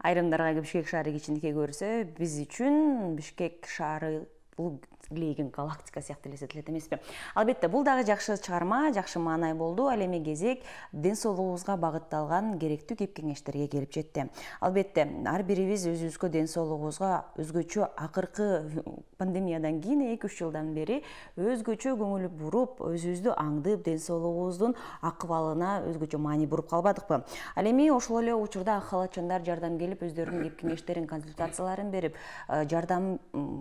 Айрымдарга Бишкек шаары кичинекей көрсө, биз үчүн Бишкек шаары бул илейген галактика сыяктуу элестетилет эмеспи? Албетте, бул дагы жакшы чыгарма, жакшы маанай болду. Ал эми кезек ден соолугубузга багытталган керектүү кеп-кеңештерге келип жетти. Албетте, ар бирибиз өзүбүзгө ден соолугубузга өзгөчө акыркы пандемиядан кийин 2-3 жылдан бери өзгөчө көңүл буруп, өзүбүздү аңдып, ден соолугубуздун акыбалына өзгөчө маани буруп калбадыкпы? Ал эми ошол эле учурда ак халатчандар жардам келип, өздөрүнүн кеп-кеңештерин, консультацияларын берип, жардам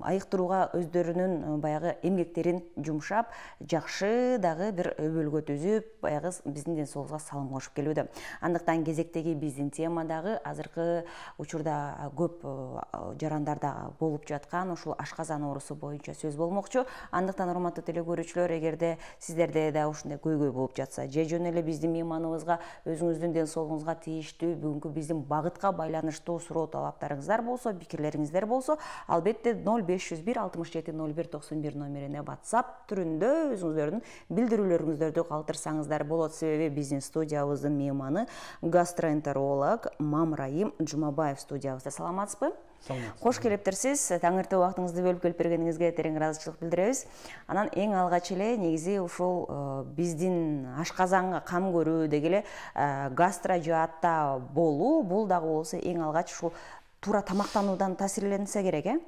айыктырууга өздөрүнүн баягы эмгектерин жумшап, жакшы дагы бир өбөлгө түзүп, баягы биздин ден соолугубузга салым кошуп келүүдө. Андыктан кезектеги биздин тема дагы азыркы учурда көп жарандарда болуп жаткан ушул ашказан оорусу боюнча сөз болмокчу. Андыктан урматтуу теле көрүүчүлөр, эгерде сиздерде да ушундай көйгөй болуп жатса, же жөн эле биздин мейманыбызга, өзүңүздүн ден соолугуңузга тийиштүү, бүгүнкү биздин багытка байланыштуу суроо талаптарыңыздар болсо, пикирлериңиздер болсо, албетте 0501 67 01 91 номерине WhatsApp түрүндө өзүңүздөрдүн билдирүүлөрүңүздөрдү калтырсаңыздар болот. Себеби биздин студиябыздын мейманы гастроэнтеролог Мамрайым Жумабаев студиябызда. Саламатсызбы? Саламатсыз. Кош келиптерсиз. Таңертең убактыңызды бөлүп келип бергениңизге терең ыраазычылык билдиребиз. Анан эң алгач эле негизи ушул биздин ашказанга кам көрүү деги эле гастрожаатта болуу, бул дагы болсо эң алгач ушул туура тамактануудан таасирленсе керек,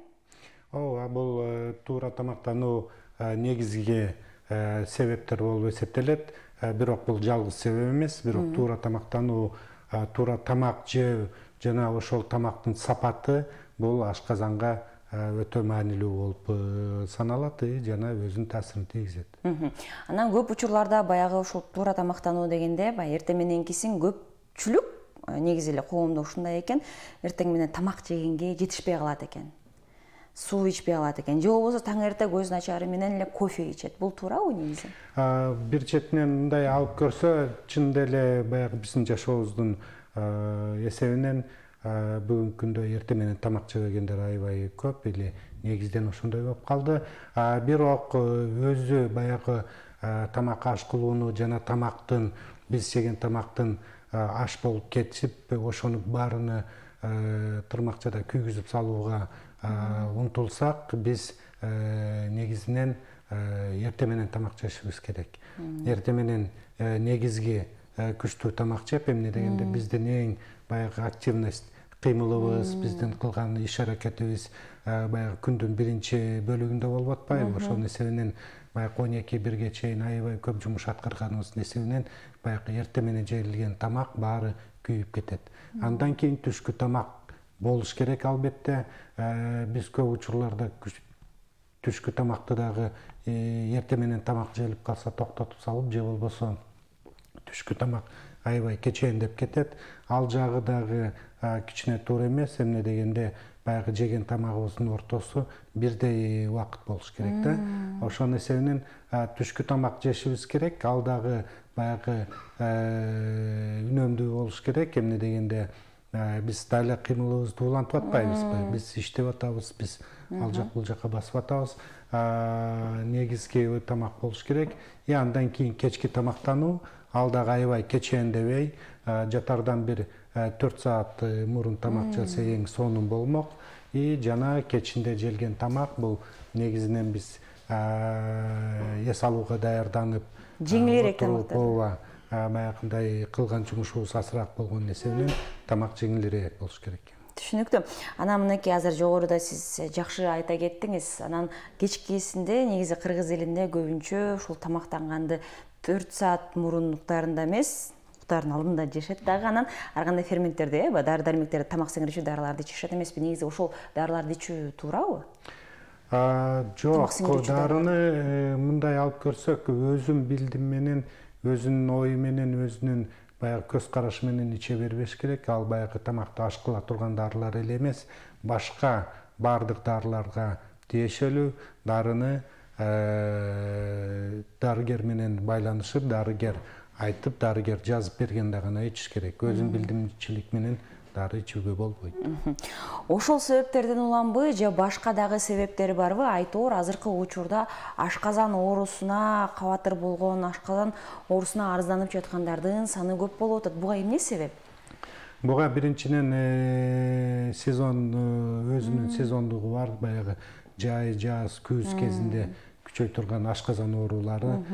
Ооба, бул туура тамактануу негизги себептер болуп эсептелет. Бирок бул жалгыз себеп эмес, бирок туура тамактануу, туура тамак жөө жана ошол тамактын сапаты бул ашказанга өтө маанилүү болуп саналат жана өзүнүн таасирин тийгизет. Анан көп учурларда баягы ушул туура тамактануу дегенде, эртең мененкисин көпчүлүк негизи эле коомдо ушундай экен, эртең менен тамак жегенге жетишпей калат экен. Суу ичпей калат экен, же болбосо таң эрте көз начары менен эле кофе ичет. Бул туурабы негизи? Бир четинен мындай алып көрсө, чындап эле баягы биздин жашообуздун эсебинен бүгүнкү күндө эртең менен тамак жебегендер аябай көп, или негизден ошондой болуп калды. Бирок өзү баягы тамак аш кылууну жана тамактын, биз жеген тамактын аш болуп кетип, ошону баарыны тырмакчада күйгүзүп салууга умтулсак, биз негизинен эртең менен тамак жешибиз керек. Эртең менен негизги күчтүү тамак жеп, эмне дегенде биздин эң баягы активность, кыймылыбыз, биздин кылган иш аракетибиз баягы күндүн биринчи бөлүгүндө болуп атпайбы? Ошонун эсебинен баягы 12-1ге чейин аябай көп жумуш аткарганыбыздын эсебинен баягы эртең менен жегилген тамак баары күйүп кетет. Андан кийин түшкү тамак болуш керек, албетте. Биз көп учурларда түшкү тамакты дагы эртең менен тамак желип калса токтотуп салып, же болбосо түшкү тамак аябай кечээндеп кетет. Ал жагы дагы кичине туура эмес, эмне дегенде баягы жеген тамагыбыздын ортосу бирдей убакыт болуш керек да. Ошонун эсебинен түшкү тамак жешибиз керек. Ал дагы баягы үнөмдүү болуш керек, эмне дегенде биз дали кыймылыбызды улантып атпайбызбы? Биз иштеп атабыз, биз ал жак бул жака басып атабыз. Негизги тамак болуш керек. Андан кийин кечки тамактануу, ал дагы аябай кечээндебей, жатардан бир 4 саат мурун тамак жесе эң сонун болмок. Жана кечинде желген тамак бул негизинен биз эс алууга даярданып, жеңилирээк тамактар. Баягындай кылган жумушубуз азыраак болгон эсебинен тамак жеңилирээк болуш керек. Түшүнүктүү. Анан мынакей азыр жогоруда сиз жакшы айта кеттиңиз. Анан кечкисинде негизи кыргыз элинде көбүнчө ушул тамактанганды 4 саат мурун уктаарында эмес, уктаардын алдында жешет дагы. Анан ар кандай ферменттерди, дары-дармектерди, тамак сиңирүүчү дарыларды ичишет эмеспи? Негизи ошол дарыларды ичүү туурабы? Жок, дарыны мындай алып көрсөк, өзүм билдим менен, өзүнүн ою менен, өзүнүн баягы көз карашы менен иче бербеш керек. Ал баягы тамакты аш кыла турган дарылар эле эмес, башка баардык дарыларга тиешелүү дарыны дарыгер менен байланышып, дарыгер айтып, дарыгер жазып бергенде гана ичиш керек. Өзүм билдимчилик менен дары ичүүгө болбойт. Ошол себептерден уланбы же башка дагы себептери барбы? Айтор азыркы учурда ашказан оорусуна кабатыр болгон, ашказан оорусуна арызданып жаткандардын саны көп болуп атат. Буга эмне себеп? Буга биринчиден сезон өзүнүн сезондугу бар. Баягы жай, жаз, күз кезинде күчөй турган ашказан оорулары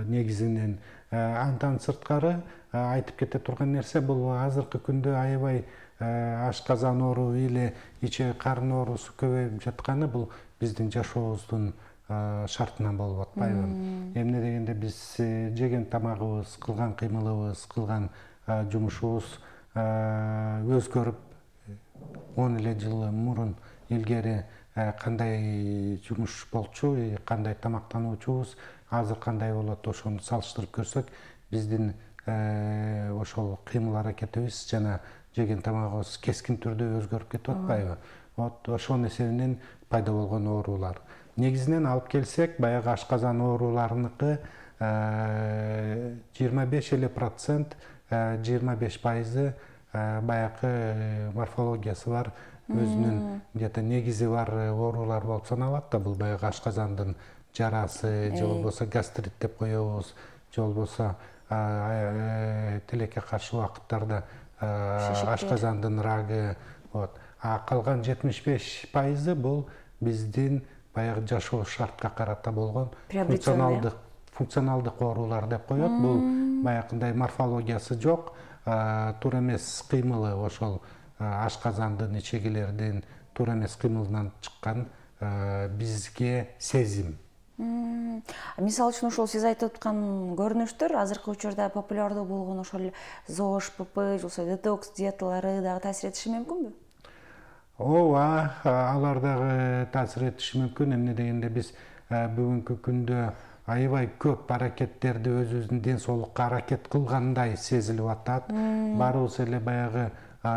негизинен. Андан сырткары айтып кете турган нерсе бул азыркы күндө аябай ашказан оору или ичек карын оорусу көбөйүп жатканы бул биздин жашообуздун шартынан болуп атпайбы? Эмне дегенде биз жеген тамагыбыз, кылган кыймылыбыз, кылган жумушубуз өзгөрүп 10 эле жыл мурун илгери кандай жумуш болчу, кандай тамактануучубуз, азыр кандай болот, ошону салыштырып көрсөк, биздин ошол кыймыл аракетибиз жана жеген тамагыбыз кескин түрдө өзгөрүп кетип атпайбы? Вот ошонун эсебинен пайда болгон оорулар. Негизинен алып келсек, баягы ашказан ооруларыныкы 25% 25% баягы морфологиясы бар, өзүнүн где-то негизи бар оорулар болуп саналат да, бул баягы ашказандын жарасы, же болбосо гастрит деп коебуз, же болбосо тилекке каршы убакыттарда ашказандын рагы. Вот. А калган 75% бул биздин баягы жашоо шартка карата болгон функционалдык оорулар деп коет. Бул баягындай морфологиясы жок, туура эмес кыймылы, ошол ашказандын, ичегилердин туура эмес кыймылынан чыккан бизге сезим. Мисалы үчүн ошол сиз айтып аткан көрүнүштөр азыркы учурда популярдуу болгон ошол ЗОЖ, ПП, же болбосо детокс диеталары дагы таасир этиши мүмкүнбү? Ооба, алар дагы таасир этиши мүмкүн. Эмне дегенде биз бүгүнкү күндө аябай көп аракеттерди өзүбүздүн ден соолукка аракет кылгандай сезилип атат. Баарыбыз эле баягы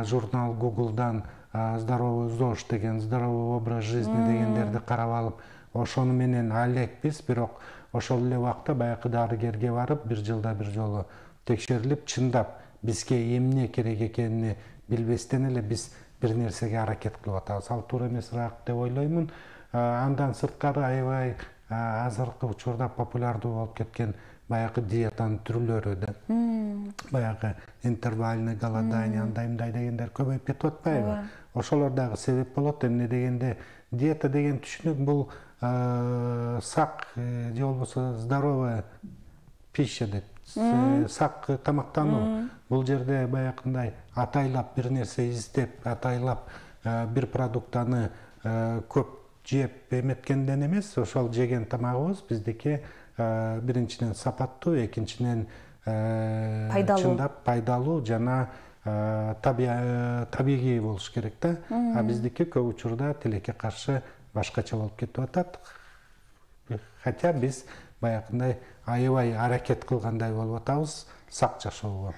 журнал Google'дан здоровый ЗОЖ деген, здоровый образ жизни дегендерди карап алып, ошону менен алекпиз, бирок ошол эле убакта баягы дарыгерге барып, бир жылда бир жолу текшерилип, чындап бизге эмне керек экенин билбестен эле биз бир нерсеге аракет кылып атабыз. Ал туура эмесирээк деп ойлоймун. Андан сырткары аябай азыркы учурда популярдуу болуп кеткен баягы диетанын түрлөрү да. Баягы интервальный голодание, андай мындай дегендер көбөйүп кетип атпайбы? Ошолор дагы себеп болот. Эмне дегенде диета деген түшүнүк бул сак же болбосо здоровая пища деп, сак тамактануу. Бул жерде баягындай атайлап бир нерсе издеп, атайлап бир продуктаны көп жеп эметкенден эмес, ошол жеген тамагыбыз биздики биринчиден сапаттуу, экинчиден чындап пайдалуу жана табигый болуш керек да. А биздики көп учурда тилекке каршы башкача болуп кетип атат. Хотя биз баягындай аябай аракет кылгандай болуп атабыз сак жашоого.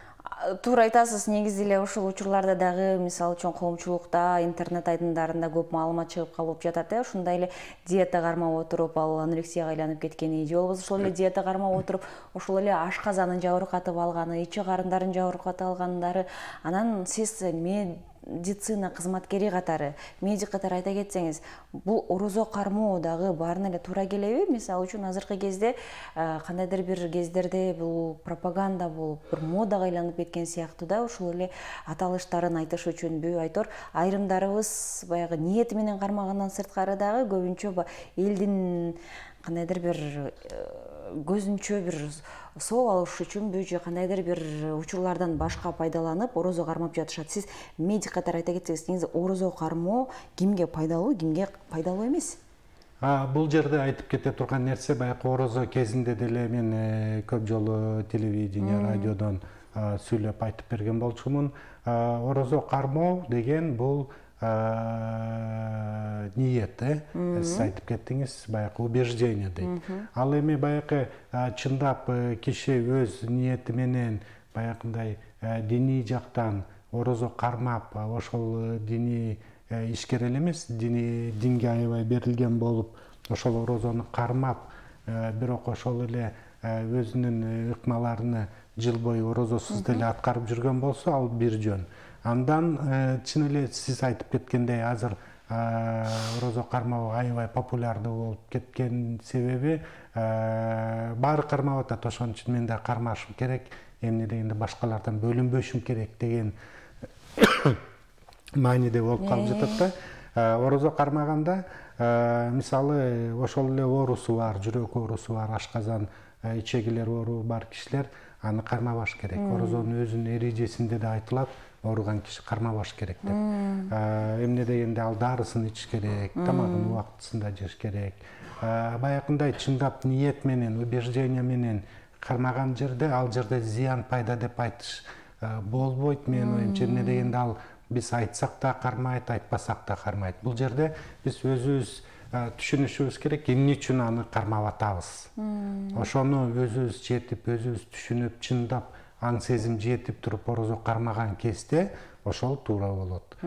Туура айтасыз, негизи эле ушул учурларда дагы мисалы үчүн коомчулукта, интернет айдындарында көп маалымат чыгып калып жатат. Ушундай эле диета кармап отуруп, ал анорексияга айланып кеткени, же болбосо ошол эле диета кармап отуруп, ошол эле ашказанын жабыркатып алганы, ичи карындарын жабыркатып алгандары, анан сиз медицина кызматкери катары, медик катары айта кетсеңиз, бул орозо кармоо дагы баарына эле туура келеби? Мисалы үчүн азыркы кезде кандайдыр бир кездерде бул пропаганда болуп, бир модага айланып кеткен сыяктуу да, ушул эле аталыштарын айтыш үчүнбү, айтор айрымдарыбыз баягы ниети менен кармагандан сырткары дагы көбүнчө элдин кандайдыр бир көзүнчө бир соо алыш үчүнбү же кандайдыр бир учурлардан башка пайдаланып орозо кармап жатышат. Сиз медик катары айта кетсеңиз, негизи орозо кармоо кимге пайдалуу, кимге пайдалуу эмес? Бул жерде айтып кете турган нерсе, баягы орозо кезинде деле мен көп жолу телевидение, радиодон сүйлөп айтып берген болчумун. Орозо кармоо деген бул ниет, сиз айтып кеттиңиз, баягы убеждение дейт. Ал эми баягы чындап киши өз ниети менен баягындай диний жактан орозо кармап, ошол диний ишкер эле эмес, динге аябай берилген болуп, ошол орозону кармап, бирок ошол эле өзүнүн ыкмаларыны жыл бою орозосуз деле аткарып жүргөн болсо, ал бир жөн. Андан чын эле сиз айтып кеткендей, азыр орозо кармоо аябай популярдуу болуп кеткен себеби баары кармап атат. Ошон үчүн мен да кармашым керек, эмне дегенде башкалардан бөлүнбөшүм керек деген мааниде болуп калып жатат да. Орозо кармаганда мисалы ошол эле оорусу бар, жүрөк оорусу бар, ашказан ичегилер оору бар кишилер аны кармабаш керек. Орозонун өзүнүн эрежесинде да айтылат, ооруган киши кармабаш керек деп. Эмне дегенде ал дарысын ичиш керек, тамагын убактысында жеш керек. Баягындай чындап ниет менен, убеждение менен кармаган жерде, ал жерде зыян пайда деп айтыш болбойт менин оюмча. Эмне дегенде ал биз айтсак да кармайт, айтпасак да кармайт. Бул жерде биз өзүбүз түшүнүшүбүз керек, эмне үчүн аны кармап атабыз. Ошону өзүбүз жетип, өзүбүз түшүнүп, чындап аң сезим жетип туруп орозо кармаган кезде ошол туура болот.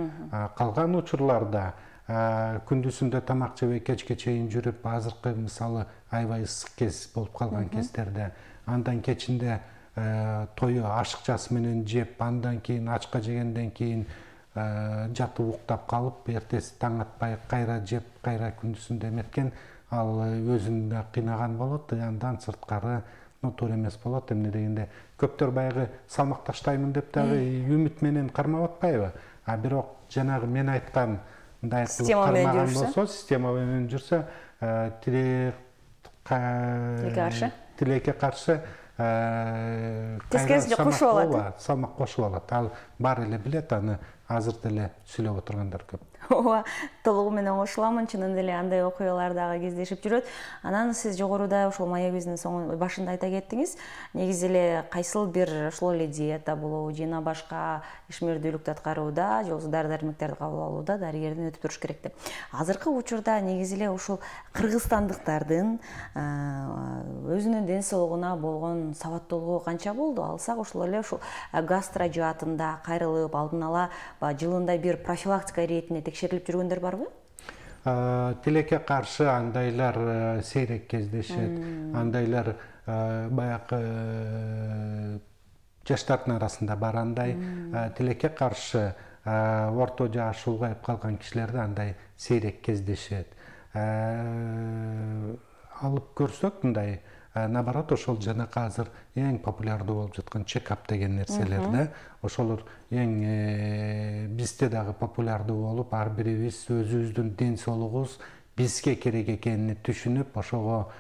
Калган учурларда күндүзүндө тамак жебей кечке чейин жүрүп, азыркы мисалы аябай ысык кез болуп калган кездерде, андан кечинде тою ашыкчасы менен жеп, андан кийин ачка жегенден кийин жатып уктап калып, эртеси таң атпай кайра жеп, кайра күндүзүндө эметкен, ал өзүн да кыйнаган болот. Андан сырткары туура эмес болот. Эмне дегенде көптөр баягы салмак таштаймын деп дагы үмүт менен кармап атпайбы? Бирок жанагы мен айткан мындай кармаган болсо, система менен жүрсө, тилекке каршы тескерисинче кошуп алат. Салмак кошуп алат. Ал баары эле билет, аны азыр деле сүйлөп отургандар көп. Ооба, толугу менен кошуламын. Чынын эле андай окуялар дагы кездешип жүрөт. Анан сиз жогоруда ошол маегибиздин башында айта кеттиңиз, негизи эле кайсыл бир ошол эле диета болобу, жана башка ишмердүүлүктү аткарууда, же болбосо дары-дармектерди кабыл алууда дарыгерден өтүп туруш керек деп. Азыркы учурда негизи эле ушул кыргызстандыктардын өзүнүн ден соолугуна болгон сабаттуулугу канча болду? Алсак ошол эле ушул гастро жаатында кайрылып, алдын ала жылында бир профилактика иретинде текшерилип жүргөндөр барбы? Тилекке каршы андайлар сейрек кездешет. Андайлар баягы жаштардын арасында бар. Андай тилекке каршы орто жаш улгайып калган кишилерде андай сейрек кездешет. Алып көрсөк мындай, наоборот, ошол жанакы азыр эң популярдуу болуп жаткан чекап деген нерселер да. Ошолор эң бизде дагы популярдуу болуп, ар бирибиз өзүбүздүн ден соолугубуз бизге керек экенин түшүнүп, ошого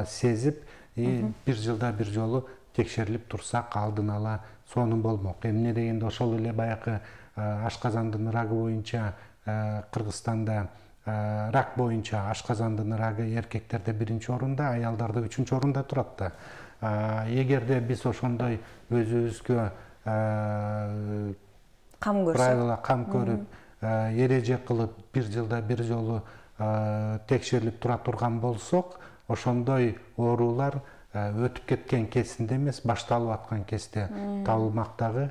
сезип, бир жылда бир жолу текшерилип турсак, алдын ала сонун болмок. Эмне дегенде ошол эле баягы ашказандын рагы боюнча Кыргызстанда рак боюнча ашказандын рагы эркектерде 1-орунда, аялдарда 3-орунда турат да. Эгерде биз ошондой өзүбүзгө правила кам көрүп, эреже кылып, бир жылда бир жолу текшерилип тура турган болсок, ошондой оорулар өтүп кеткен кезинде эмес, башталып аткан кезде табылмак дагы.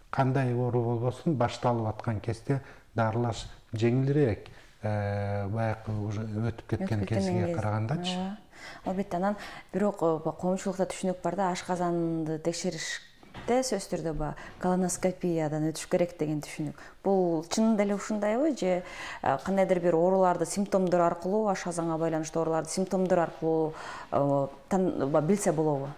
Кандай оору болбосун, башталып аткан кезде дарылаш жеңилирээк, баягы уже өтүп кеткен кезге карагандачы. Албетте, анан бирок коомчулукта түшүнүк бар да, ашказанды текшериште сөзсүз түрдө колоноскопиядан өтүш керек деген түшүнүк. Бул чынында эле ушундайбы, же кандайдыр бир ооруларды симптомдор аркылуу, ашказанга байланыштуу ооруларды симптомдор аркылуу билсе болобу?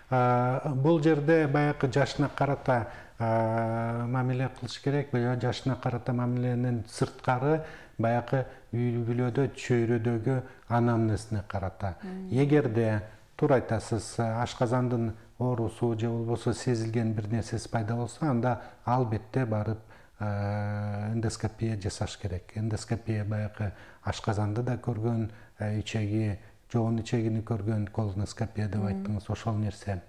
Бул жерде баягы жашына карата мамиле кылыш керек. Жашына карата мамиленин сырткары баягы үй бүлөдө, чөйрөдөгү анамнезине карата. Эгерде туура айтасыз, ашказандын оорусу же болбосо сезилген бир нерсеси пайда болсо, анда албетте барып эндоскопия жасаш керек. Эндоскопия баягы ашказанды да көргөн, ичеги, жоон ичегини көргөн колоноскопия деп айттыңыз, ошол нерсе.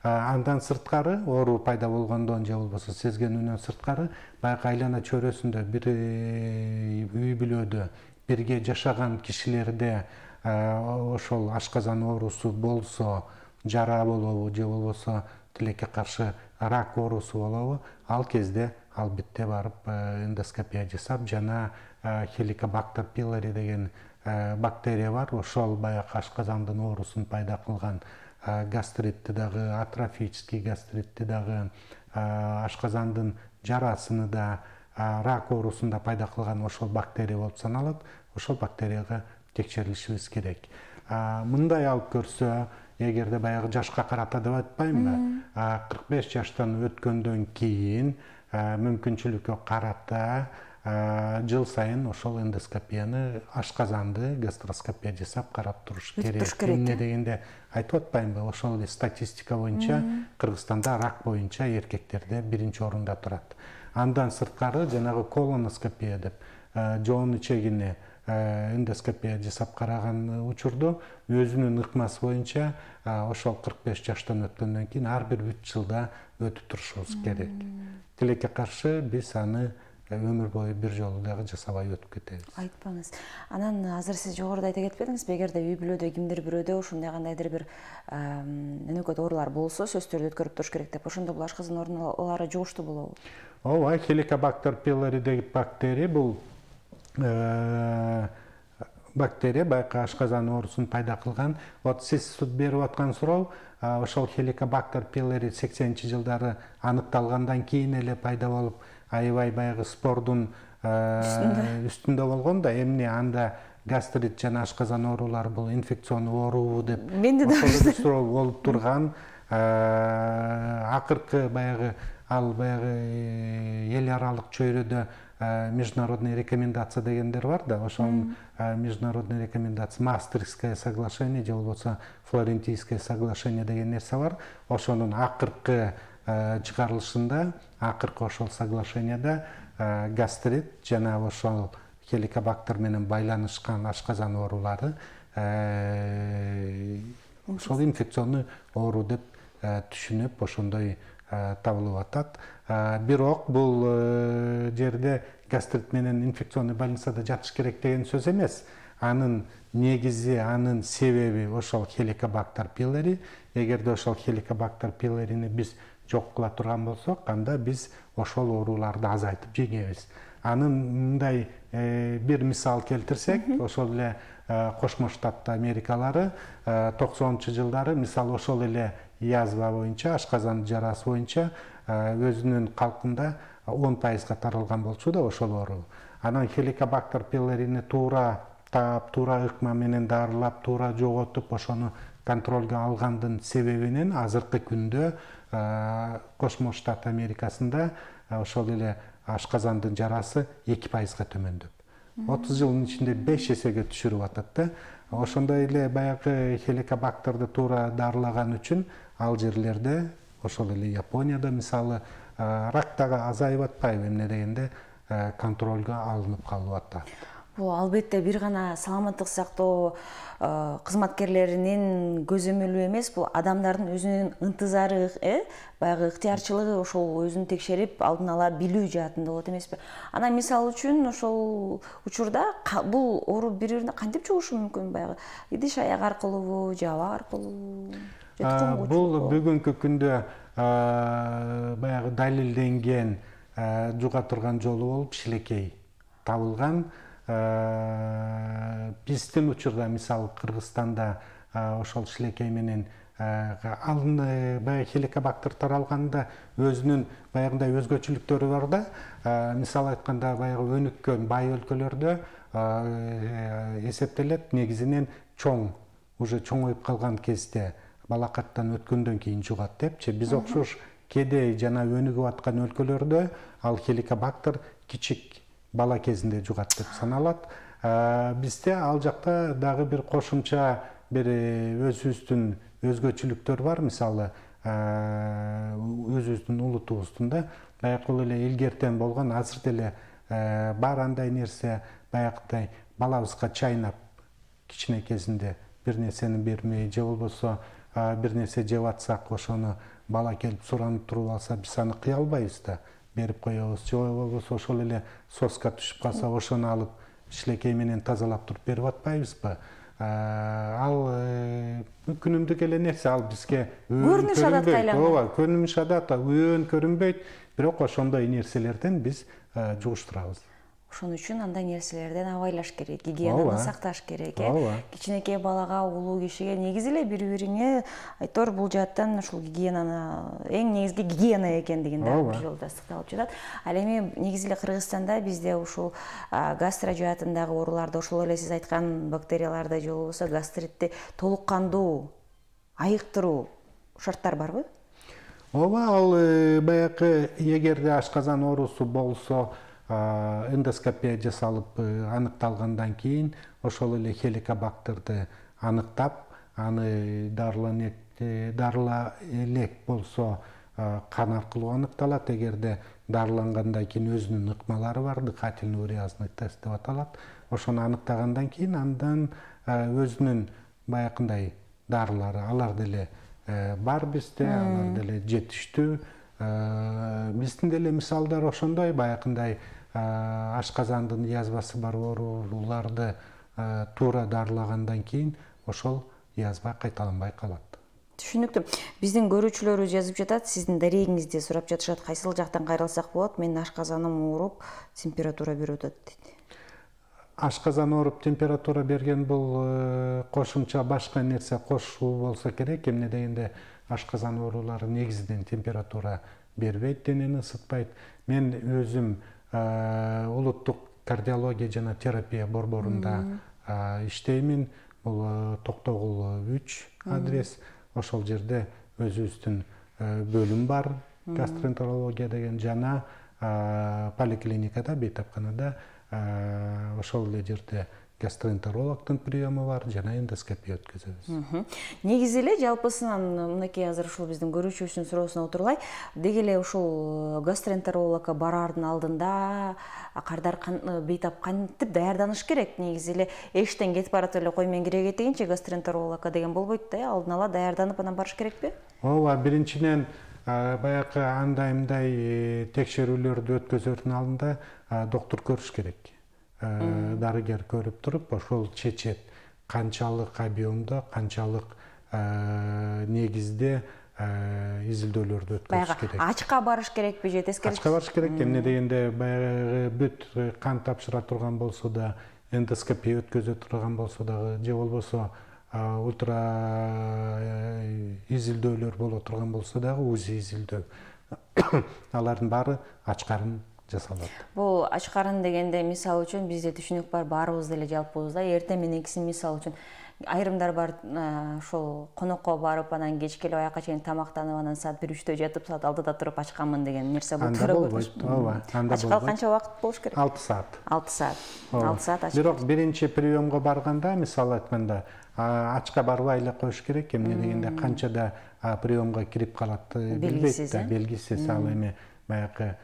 Андан сырткары, оору пайда болгондон же болбосо сезгенинен сырткары, баягы айлана чөйрөсүндө бир үй бүлөдө бирге жашаган кишилерде ошол ашказан оорусу болсо, жара болобу же болбосо тилекке каршы рак оорусу болобу, ал кезде албетте барып эндоскопия жасап, жана Helicobacter pylori деген бактерия бар, ошол баягы ашказандын оорусун пайда кылган гастритти дагы, атрофический гастритти дагы, ашказандын жарасыны да, рак оорусун да пайда кылган ошол бактерия болуп саналат. Ошол бактерияга текшерилишибиз керек. Мындай алып көрсө, эгерде баягы жашка карата деп айтпаймынбы, 45 жаштан өткөндөн кийин мүмкүнчүлүккө карата жыл сайын ошол эндоскопияны, ашказанды гастроскопия жасап карап туруш керек. Эмне дегенде айтып атпаймынбы, ошол эле статистика боюнча Кыргызстанда рак боюнча эркектерде 1-орунда турат. Андан сырткары жанагы колоноскопия деп жоон ичегине эндоскопия жасап караган учурду өзүнүн ыкмасы боюнча ошол 45 жаштан өткөндөн кийин ар бир 3 жылда өтүп турушубуз керек. Тилекке каршы биз аны өмүр бою бир жолу дагы жасабай өтүп кетебиз. Айтпаңыз. Анан азыр сиз жогоруда айта кетпедиңизби, эгерде үй бүлөдө кимдир бирөөдө ушундай кандайдыр бир өнөкөт оорулар болсо, сөздөрдү өткөрүп туруш керек деп. Ошондо бул ашказан оорулары жугуштуу болобу? Ооба, Helicobacter pylori деген бактерия бул бактерия байкы ашказан оорусун пайда кылган. Вот сиз берип аткан суроо, ошол Helicobacter pylori 80-жылдары аныкталгандан кийин эле пайда болуп, аябай баягы спордун үстүндө болгон да, эмне анда гастрит жана ашказан оорулары бул инфекционный оорубу деп ошол суроо болуп турган. Акыркы баягы ал баягы эл аралык чөйрөдө международный рекомендация дегендер бар да, ошол международный рекомендация, Маастрихтское соглашение же болбосо Флорентийское соглашение деген нерсе бар. Ошонун акыркы чыгарылышында, акыркы ошол соглашенияда гастрит жана ошол Helicobacter менен байланышкан ашказан оорулары ошол инфекционный оору деп түшүнүп, ошондой табылып атат. Бирок бул жерде гастрит менен инфекционный больницада жатыш керек деген сөз эмес. Анын негизи, анын себеби ошол Helicobacter pylori. Эгерде ошол Helicobacter pylorини биз жок кыла турган болсок, анда биз ошол ооруларды азайтып жеңебиз. Анын мындай бир мисал келтирсек, ошол эле Кошмо Штат Америкалары 90-жылдары мисалы ошол эле язва боюнча, ашказан жарасы боюнча өзүнүн калкында 10% таралган болчу да ошол оору. Анан Helicobacter pylorини туура таап, туура ыкма менен дарылап, туура жоготуп, ошону контролго алгандын себебинен азыркы күндө Кошмо Штат Америкасында ошол эле ашказандын жарасы 2%га төмөндөп. 30 жылдын ичинде 5 эсеге түшүрүп атат да. Ошондой эле баягы Helicobacterди туура дарылаган үчүн ал жерлерде, ошол эле Японияда мисалы рак дагы азайып атпайбы, эмне дегенде контролго алынып калып атат. Бул албетте бир гана саламаттык сактоо кызматкерлеринин көзөмөлү эмес, бул адамдардын өзүнүн ынтызары, баягы ыктыярчылыгы, ошол өзүн текшерип, алдын ала билүү жаатында болот эмеспи? Анан мисалы үчүн ошол учурда бул оору бири-бирине кантип жугушу мүмкүн, баягы идиш аяк аркылуубу, же аба аркылуубу? Бул бүгүнкү күндө баягы далилденген жуга турган жолу болуп шилекей табылган. Биздин учурда мисалы Кыргызстанда ошол шилекей менен баягы Helicobacter таралганда өзүнүн баягындай өзгөчөлүктөрү бар да. Мисалы айтканда баягы өнүккөн бай өлкөлөрдө эсептелет негизинен уже чоңоюп калган кезде, балакаттан өткөндөн кийин жугат депчи. Биз окшош кедей жана өнүгүп аткан өлкөлөрдө ал Helicobacter кичик бала кезинде жугат деп саналат. Бизде ал жакта дагы бир кошумча бир өзүбүздүн өзгөчөлүктөр бар. Мисалы өзүбүздүн улутубуздун да баягы эле илгертен болгон, азыр деле бар андай нерсе, баягыдай балабызга чайнап кичинекесинде бир нерсени бермей, же болбосо бир нерсе жеп атсак, ошону бала келип суранып туруп алса, биз аны кыя албайбыз да, берип коебуз. Же болбосо ошол эле соска түшүп калса, ошону алып шилекей менен тазалап туруп берип атпайбызбы? Ал күнүмдүк эле нерсе, ал бизге көрүнүш адатка айланган. Ооба, көрүнүш адат, өөн көрүнбөйт, бирок ошондой нерселерден биз жугуштурабыз. Ошон үчүн андай нерселерден абайлаш керек, гигиенаны сакташ керек. Кичинекей балага, улуу кишиге негизи эле бири-бириңе айтор бул жааттан ушул гигиенаны эң негизги гигиена экендигин дагы бир жолу тастыкталып жатат. Ал эми негизи эле Кыргызстанда бизде ушул гастро жаатындагы ооруларды, ошол эле сиз айткан бактерияларды же болбосо гастритти толук кандуу айыктыруу шарттар барбы? Ооба, ал баягы эгерде ашказан оорусу болсо эндоскопия жасалып аныкталгандан кийин ошол эле хеликобактерди аныктап, аны дарыла элек болсо кан аркылуу аныкталат. Эгерде дарылангандан кийин өзүнүн ыкмалары бар, дыхательный уреазный тест деп аталат. Ошону аныктагандан кийин андан өзүнүн баягындай дарылары, алар деле бар бизде, алар деле жетиштүү. Биздин деле мисалдар ошондой, баягындай ашказандын язвасы бар ооруларды туура дарылагандан кийин ошол язва кайталанбай калат. Түшүнүктүү. Биздин көрүүчүлөрүбүз жазып жатат, сиздин дарегиңизди сурап жатышат, кайсыл жактан кайрылсак болот, менин ашказаным ооруп, температура берип атат дейт. Ашказан ооруп температура берген бул кошумча башка нерсе кошуу болсо керек. Эмне дегенде ашказан оорулары негизинен температура бербейт, денени ысытпайт. Мен өзүм улуттук кардиология жана терапия борборунда иштеймин. Бул Токтогул 3 адрес. Ошол жерде өзүбүздүн бөлүм бар, гастроэнтерология деген, жана поликлиникада, бейтапканада ошол эле жерде гастроэнтерологдун приему бар, жана эндоскопия өткөзөбүз. Негизи эле жалпысынан мынакей азыр ушул биздин көрүүчүбүздүн суроосуна отурлай. Деги эле ушул гастроэнтерологко бараардын алдында кардар бейтап кантип даярданыш керек? Негизи эле эштен кетип баратып эле кой мен кире кетейинчи гастроэнтерологко деген болбойт да, алдын ала даярданып анан барыш керекпи? Ооба, биринчиден баягы андай текшерүүлөрдү өткөзөрдүн алдында доктур көрүш керек. Дарыгер көрүп туруп, ошол чечет канчалык объемдо, канчалык негизде изилдөөлөрдү өткөзүш керек. Баягы ачка барыш керекпи же тескери? Ачка барыш керек. Эмне дегенде баягы бүт кан тапшыра турган болсо да, эндоскопия өткөзө турган болсо дагы, же болбосо ультра изилдөөлөр боло турган болсо дагы, УЗИ изилдөө, алардын баары ачкарын жасалат. Бул ачкарын дегенде мисалы үчүн бизде түшүнүк бар, баарыбыз деле жалпыбызда эртең мененкисин мисалы үчүн айрымдар бар, ошол конокко барып, анан кечке келип аяка чейин тамактанып, анан саат 1-3 жатып, саат 6 туруп ачканмын деген нерсе болуп болбойт. Ооба, анда ачкалы канча убакыт болуш керек? 6 саат. 6 саат. 6 саат ачка. Бирок биринчи приемго барганда, мисалы айтканда, ачка барбай эле коюш керек. Эмне дегенде канчада приемго кирип калат билбейт да, белгисиз. Ал эми баягы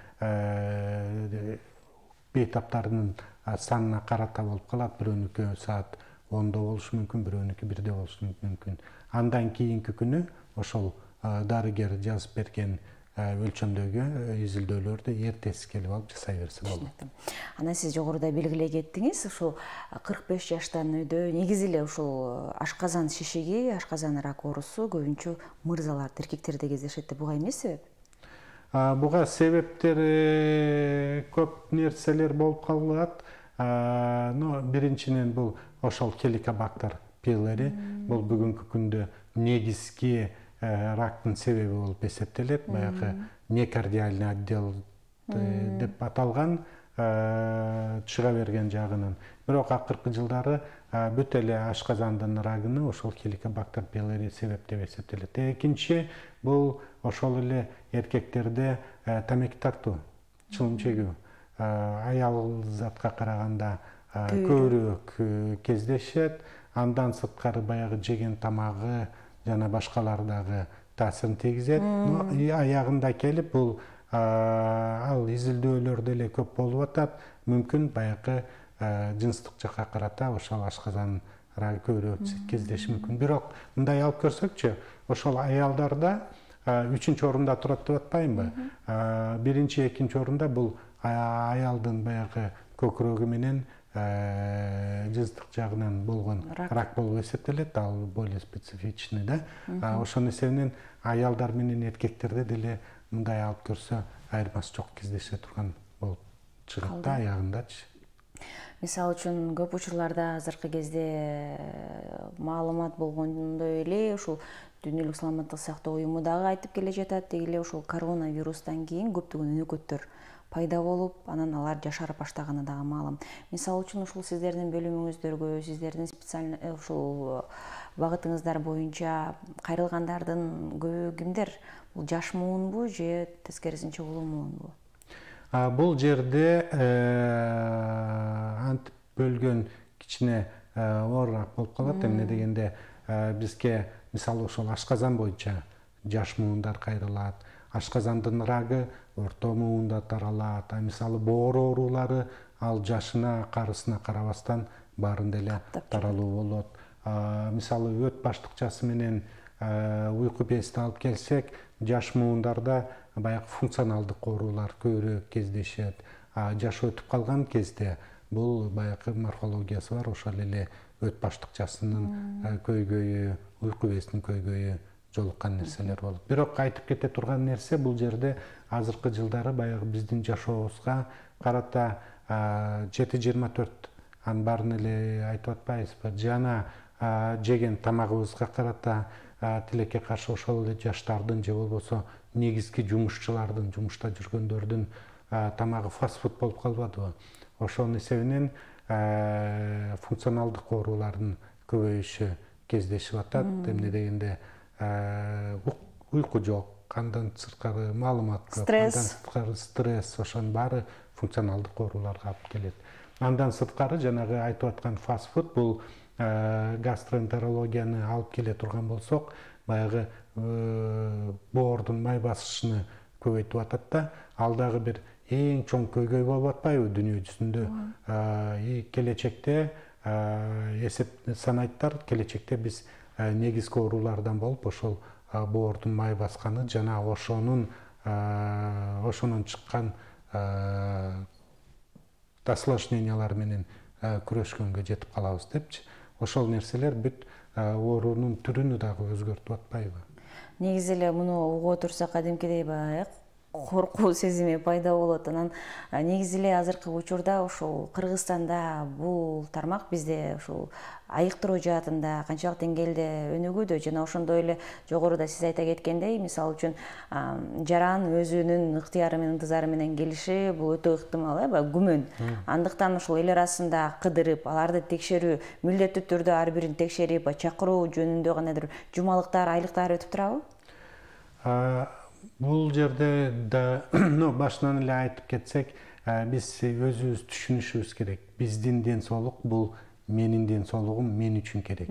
бейтаптардын санына карата болуп калат. Бирөөнүкү саат 10-до болушу мүмкүн, бирөөнүкү 1-де болушу мүмкүн. Андан кийинки күнү ошол дарыгер жазып берген өлчөмдөгү изилдөөлөрдү эртеси келип алып жасай берсе болот. Анан сиз жогоруда белгилей кеттиңиз, ушул 45 жаштан өйдө негизи эле ушул ашказан шишиги, ашказан рак оорусу көбүнчө мырзаларда, эркектерде кездешет деп, буга эмне себеп? Буга себептери көп нерселер болуп калат. Биринчиден бул ошол хеликобактер пилори, бул бүгүнкү күндө негизги рактын себеби болуп эсептелет. Баягы некардиальный отдел деп аталган, чыга берген жагынан. Бирок акыркы жылдары бүт эле ашказандын рагыны ошол хеликобактер пилори себеп деп эсептелет. Экинчи бул ошол эле эркектерде тамеки тартуу, чылым чегүү, аял затка караганда көбүрөөк кездешет. Андан сырткары баягы жеген тамагы жана башкалар дагы таасирин тийгизет. Аягында келип бул ал изилдөөлөр деле көп болуп атат. Мүмкүн баягы жынстык жакка карата ошол ашказан рагы көбүрөөк кездеши мүмкүн. Бирок мындай алып көрсөкчү, ошол аялдарда 3-чү орунда турат деп атпаймынбы? 1-чи, 2-чи орунда бул аялдын баягы көкүрөгү менен жынстык жагынан болгон рак болуп эсептелет. Ал более специфичный да. Ошонун эсебинен аялдар менен эркектерде деле мындай алып көрсө айырмасы жок кездеше турган болуп чыгат да, аягындачы. Мисалы үчүн көп учурларда азыркы кезде маалымат болгондой эле ушул Дүйнөлүк саламаттык сактоо уюму дагы айтып келе жатат, деги эле ушул коронавирустан кийин көптөгөн өнөкөттөр пайда болуп, анан алар жашарып баштаганы дагы маалым. Мисалы үчүн ушул сиздердин бөлүмүңүздөргө, сиздердин специальный ушул багытыңыздар боюнча кайрылгандардын көбү кимдер? Бул жаш муунбу же тескерисинче улуу муунбу? Бул жерде антип бөлгөн кичине оорураак болуп калат. Эмне дегенде бизге мисалы ошол ашказан боюнча жаш муундар кайрылат. Ашказандын рагы орто муунда таралат. Мисалы боор оорулары ал жашына, карысына карабастан баарын деле таралуу болот. Мисалы өт баштыкчасы менен уйку безди алып келсек, жаш муундарда баягы функционалдык оорулар көбүрөөк кездешет. Жаш өтүп калган кезде бул баягы морфологиясы бар, ошол эле өт баштыкчасынын көйгөйү, уйку безинин көйгөйү жолуккан нерселер болот. Бирок айтып кете турган нерсе бул жерде азыркы жылдары баягы биздин жашообузга карата 7-24 анын баарын эле айтып атпайбызбы? Жана жеген тамагыбызга карата тилекке каршы ошол эле жаштардын же болбосо негизги жумушчулардын, жумушта жүргөндөрдүн тамагы фастфуд болуп калбадыбы? Ошонун эсебинен функционалдык оорулардын көбөйүшү кездешип атат. Эмне дегенде уйку жок, андан сырткары маалымат көп, андан сырткары стресс, ошонун баары функционалдык ооруларга алып келет. Андан сырткары жанагы айтып аткан фастфуд бул гастроэнтерологияны алып келе турган болсок, баягы боордун май басышын көбөйтүп атат да, ал дагы бир эң чоң көйгөй болуп атпайбы дүйнө жүзүндө? Келечекте эсеп санайттар, келечекте биз негизги оорулардан болуп ошол боордун май басканы жана ошонун чыккан осложнениялар менен күрөшкөнгө жетип калабыз депчи. Ошол нерселер бүт оорунун түрүнү дагы өзгөртүп атпайбы? Негизи эле муну угуп отурсак кадимкидей баягы коркуу сезими пайда болот. Анан негизи эле азыркы учурда ушул Кыргызстанда бул тармак бизде ушул айыктыруу жаатында канчалык деңгээлде өнүгүүдө, жана ошондой эле жогоруда сиз айта кеткендей, мисалы үчүн жаран өзүнүн ыктыяры менен ынтызары менен келиши бул өтө ыктымал, баягы күмөн. Андыктан ушул эл арасында кыдырып, аларды текшерүү, милдеттүү түрдө ар бирин текшерип, чакыруу жөнүндө кандайдыр жумалыктар, айлыктар өтүп турабы? Бул жерде да башынан эле айтып кетсек, биз өзүбүз түшүнүшүбүз керек. Биздин ден соолук бул менин ден соолугум мен үчүн керек.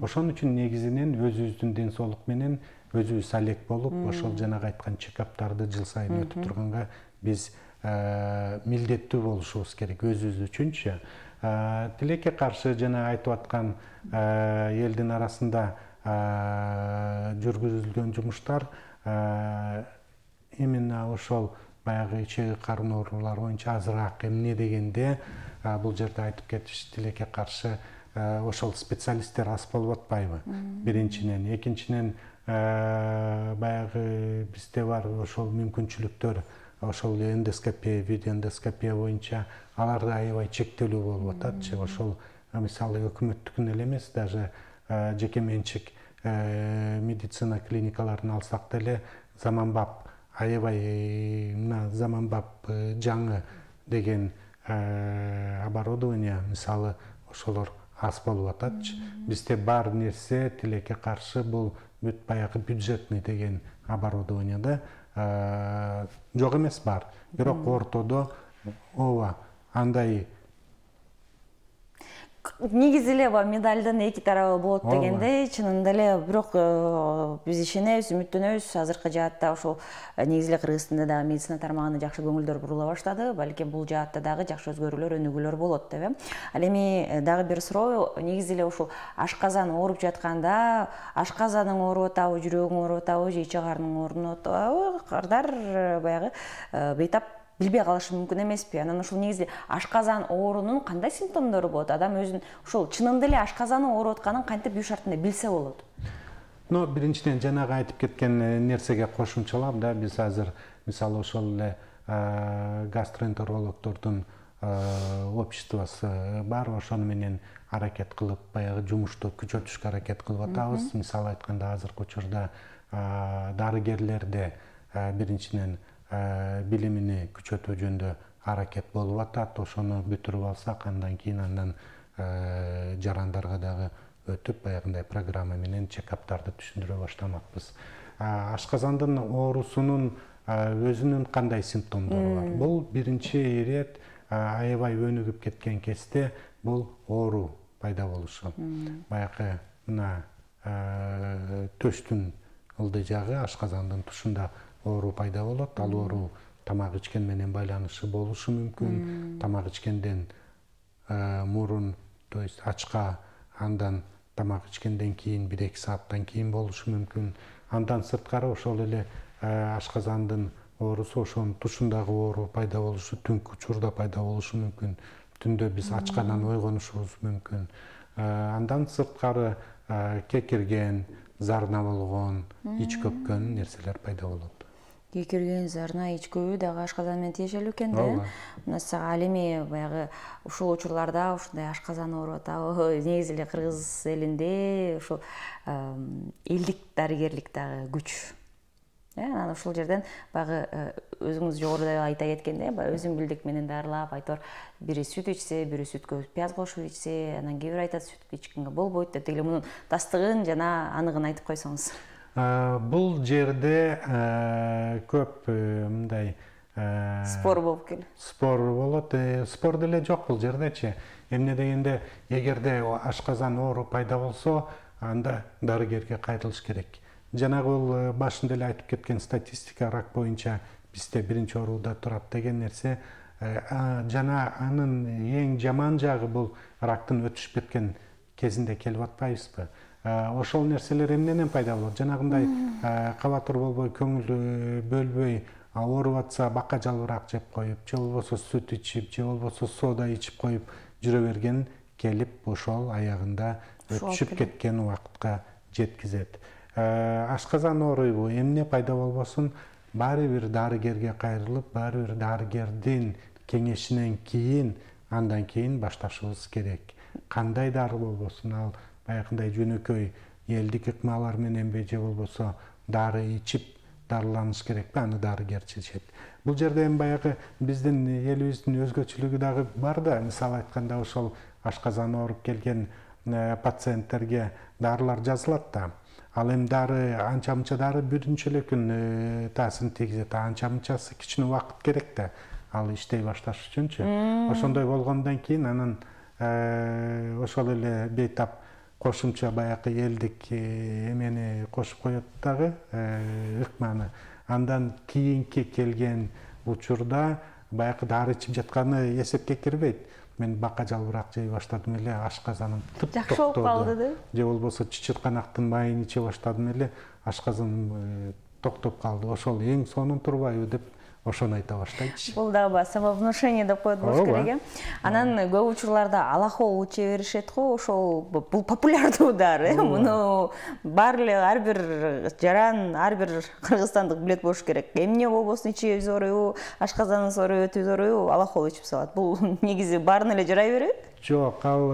Ошон үчүн негизинен өзүбүздүн ден соолук менен өзүбүз алек болуп, ошол жанагы айткан чекаптарды жыл сайын өтүп турганга биз милдеттүү болушубуз керек өзүбүз үчүнчү. Тилекке каршы жана айтып аткан элдин арасында жүргүзүлгөн жумуштар именно ошол баягы ичеги карын оорулары боюнча азыраак. Эмне дегенде бул жерде айтып кетиш тилекке каршы ошол специалисттер аз болуп атпайбы? Биринчиден, экинчиден баягы бизде бар ошол мүмкүнчүлүктөр, ошол эндоскопия, видеоэндоскопия боюнча алар да аябай чектелүү болуп ататчы. Ошол мисалы өкмөттүкүн эле эмес, даже жеке менчик медицина клиникаларын алсак деле заманбап аябай заманбап жаңы деген оборудование мисалы ошолор аз болуп ататчы. Бизде бар нерсе тилекке каршы бул бүт баягы бюджетный деген оборудованияда жок эмес, бар. Бирок ортодо ооба андай негизи эле медалдын эки тарабы болот дегендей, чынында эле, бирок биз ишенебиз, үмүттөнөбүз. Азыркы жаатта ушул негизи эле Кыргызстанда дагы медицина тармагына жакшы көңүлдөр бурула баштады. Балким бул жаатта дагы жакшы өзгөрүүлөр, өнүгүүлөр болот деп. Ал эми дагы бир суроо, негизи эле ушул ашказан ооруп жатканда, ашказаның ооруп атабы, жүрөгүң ооруп атабы, же ичи карның ооруп атабы, кардар баягы бейтап билбей калышы мүмкүн эмеспи? Анан ушул негизи ашказан оорунун кандай симптомдору болот? Адам өзүн ушул чынында эле ашказаны ооруп атканын кантип үй шартында билсе болот? Биринчиден жанагы айтып кеткен нерсеге кошумчалап да, биз азыр мисалы ошол эле гастроэнтерологдордун обществосу бар, ошону менен аракет кылып баягы жумушту күчөтүшкө аракет кылып атабыз. Мисалы айтканда азыркы учурда дарыгерлерде биринчиден билимини күчөтүү жөнүндө аракет болуп атат. Ошону бүтүрүп алсак, андан кийин жарандарга дагы өтүп, баягындай программа менен чекаптарды түшүндүрө баштамакпыз. Ашказандын оорусунун өзүнүн кандай симптомдору бар? Бул биринчи ирет аябай өнүгүп кеткен кезде бул оору пайда болушу. Баягы мына төштүн ылдый жагы, ашказандын тушунда оору пайда болот. Ал оору тамак ичкен менен байланышы болушу мүмкүн. Тамак ичкенден мурун, то есть ачка, андан тамак ичкенден кийин 1-2 сааттан кийин болушу мүмкүн. Андан сырткары ошол эле ашказандын оорусу, ошонун тушундагы оору пайда болушу түнкү учурда пайда болушу мүмкүн. Түндө биз ачкадан ойгонушубуз мүмкүн. Андан сырткары кекирген, зарна болгон, ич көпкөн нерселер пайда болот. Кекирген, зарна, ич көбүү дагы ашказан менен тиешелүү экен да. Мына ал эми баягы ушул учурларда ушундай ашказан ооруп атабы, негизи эле кыргыз элинде ушул элдик дарыгерлик дагы күч. Анан ушул жерден баягы өзүңүз жогоруда айта кеткендей, өзүн билдик менен дарылап, айтор бири сүт ичсе, бири сүткө пияз кошуп ичсе, анан кээ бир айтат сүт ичкенге болбойт деп, деле мунун тастыгын жана аныгын айтып койсоңуз. Бул жерде көп мындай спор болуп келет. Спор болот. Спор деле жок бул жердечи. Эмне дегенде, эгерде ашказан оору пайда болсо, анда дарыгерге кайрылыш керек. Жанагы бул башында эле айтып кеткен статистика рак боюнча бизде биринчи орунда турат деген нерсе. Жана анын эң жаман жагы бул рактын өтүшүп кеткен кезинде келип атпайбызбы? Ошол нерселер эмнеден пайда болот? Жанагындай кабатыр болбой, көңүл бөлбөй, ооруп атса бака жалбырак жеп коюп, же болбосо сүт ичип, же болбосо сода ичип коюп жүрө берген келип ошол аягында өтүшүп кеткен убакытка жеткизет. Ашказан ооруйбу, эмне пайда болбосун, баары бир дарыгерге кайрылып, баары бир дарыгердин кеңешинен кийин, андан кийин башташыбыз керек. Кандай дары болбосун, ал баягындай жөнөкөй элдик ыкмалар мененби, же болбосо дары ичип дарыланыш керекпи, аны дарыгер чечет. Бул жерде эми баягы биздин элибиздин өзгөчөлүгү дагы бар да. Мисалы айтканда, ошол ашказан ооруп келген пациенттерге дарылар жазылат да. Ал эми дары, анча-мынча дары биринчи эле күн таасирин тийгизет, анча-мынчасы кичине убакыт керек да, ал иштей башташ үчүнчү. Ошондой болгондон кийин анан ошол эле бейтап кошумча баягы элдик эмени кошуп коет дагы, ыкманы. Андан кийинки келген учурда баягы дары ичип жатканы эсепке кирбейт. Мен бака жалбырак жей баштадым эле, ашказаным жакшы болуп калды да. Же болбосо чычырканактын майын иче баштадым эле, ашказаным токтоп калды. Ошол эң сонун турбайбы деп ошону айта баштайчы. Бул дагы самовнушение деп коет болуш керек. Анан көп учурларда алахол иче беришет го, ошол бул популярдуу дары. Муну бар эле ар бир жаран, ар бир кыргызстандык билет болуш керек. Эмне болбосун ичи ооруйбу, ашказанын ооруйбу, өтүбүз ооруйбу, алахол ичип салат. Бул негизи баарына эле жарай берет? Жок, ал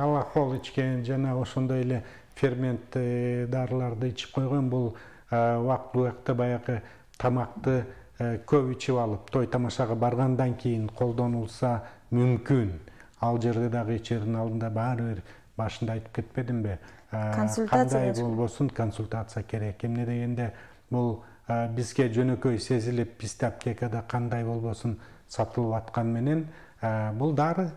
алахол ичкен жана ошондой эле фермент дарыларды ичип койгон бул убакыт баягы тамакты көп ичип алып, той тамашага баргандан кийин колдонулса мүмкүн. Ал жерде дагы ичердин алдында баары бир башында айтып кетпедимби? Кандай болбосун консультация керек. Эмне дегенде, бул бизге жөнөкөй сезилип, бизде аптекада кандай болбосун сатылып аткан менен бул дары.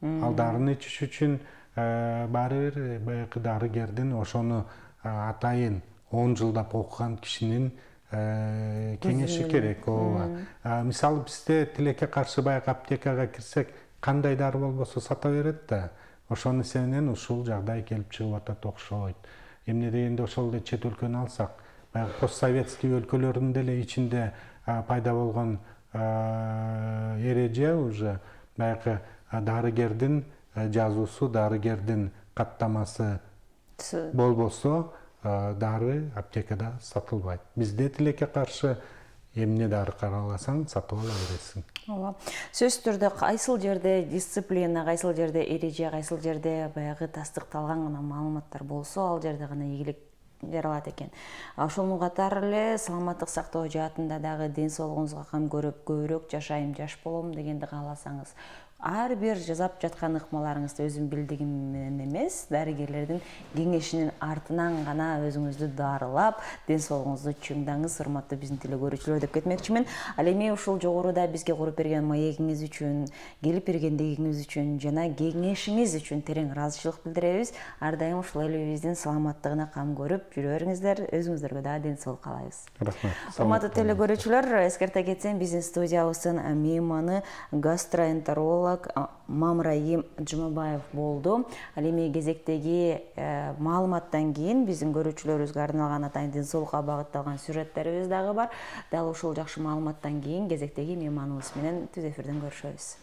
Ал дарыны ичиш үчүн баары бир баягы дарыгердин, ошону атайын 10 жылдап окуган кишинин кеңеши керек. Мисалы бизде тилекке каршы баягы аптекага кирсек, кандай дары болбосо сата берет да. Ошонун эсебинен ушул жагдай келип чыгып атат окшойт. Эмне дегенде, ошол эле чет өлкөнү алсак, баягы постсоветский өлкөлөрдүн деле ичинде пайда болгон эреже уже баягы дарыгердин жазуусу, дарыгердин каттамасы болбосо дары аптекада сатылбайт. Бизде тилекке каршы эмне дары караласаң сатып ала бересиң. Ооба. Сөзсүз түрдө кайсыл жерде дисциплина, кайсыл жерде эреже, кайсыл жерде баягы тастыкталган гана маалыматтар болсо, ал жерде гана ийгилик жаралат экен. Ошону катары эле саламаттык сактоо жаатында дагы ден соолугуңузга кам көрүп, көбүрөөк жашайм, жаш болом дегенди кааласаңыз, ар бир жасап жаткан ыкмаларыңызды өзүм билдигим менен эмес, дарыгерлердин кеңешинин артынан гана өзүңүздү дарылап, ден соолугуңузду чыңдаңыз, урматтуу биздин теле көрүүчүлөр деп кетмекчимин. Ал эми ушул жогоруда бизге куруп берген маегиңиз үчүн, келип бергендигиңиз үчүн жана кеңешиңиз үчүн терең ыраазычылык билдиребиз. Ар дайым ушул элибиздин саламаттыгына кам көрүп жүрө бериңиздер. Өзүңүздөргө дагы ден соолук каалайбыз. Рахмат. Урматтуу теле көрүүчүлөр, эскерте кетсем, биздин студиябыздын мейманы гастроэнтеролог Мамраим Жумабаев болду. Ал эми кезектеги маалыматтан кийин биздин көрүүчүлөрүбүзгө арналган атайын ден соолукка багытталган сюжеттерибиз дагы бар. Дал ушул жакшы маалыматтан кийин кезектеги мейманыбыз менен түз эфирден көрүшөбүз.